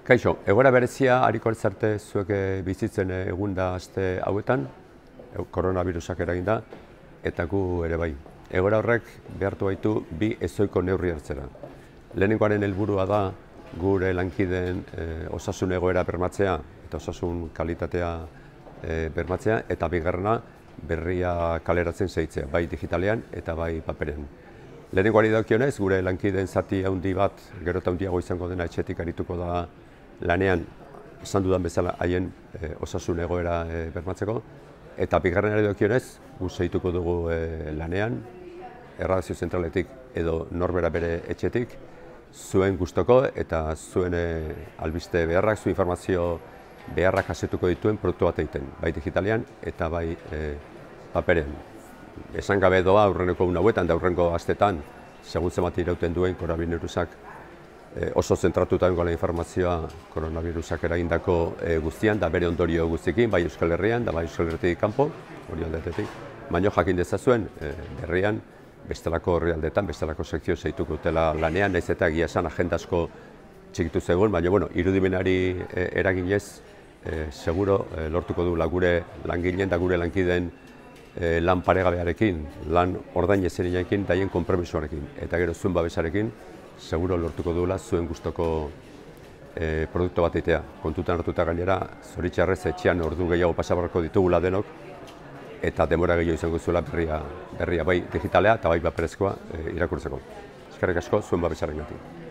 Kaixo, egoera berezia hariko altzarte zuek bizitzen egunda aste hauetan, koronavirusak eraginda, eta gu ere bai. Egoera horrek behartu baitu bi ezoiko neurri hartzera. Lehenengoaren helburua da gure lankideen osasun egoera bermatzea eta osasun kalitatea bermatzea, eta bigarrena berria kaleratzen segitzea, bai digitalean eta bai paperean. Lehenengoari dagokionez, gure lankideen zati handi bat, gero eta handiago izango dena etxetik arituko da lanean, esan dudan bezala haien osasun egoera bermatzeko, eta bigarrenari dagokionez, gu segituko dugu lanean, erradazio zentraletik edo norbera bere etxetik, zuen gustoko eta zuen albiste beharrak, zuen informazio beharrak jasetuko dituen produktu bat egiten, bai digitalean eta bai paperean. Esan gabe doa aurreneko hauetan da aurrengo astetan, segun zenbat irauten duen koronavirusak oso zentratuta dengoela informazioa koronavirusak eragindako guztian, da bere ondorio guztiekin, bai Euskal Herrian, da bai Euskal Herritik kanpo, hori aldetetik. Baina jakin dezazuen, berrian, bestelako herrialdetan, bestelako sekzio segituko dutela lanean, nahiz eta egia esan agenda asko txikitu zegoen, baina irudimenari eraginez, seguro lortuko du gure langileen da gure lankideen lan paregabearekin, lan ordain ezerinekin, daien konpromisoarekin, eta gero zuen babesarekin, seguro lortuko duela zuen gustoko produktu bat egitea. Kontutan hartuta gainera, zoritxarrez etxean ordu gehiago pasabarrako ditugula denok, eta denbora gehiago izango zuela berria bai digitalea eta bai paperezkoa irakurtzeko. Eskerrik asko zuen babesarengatik.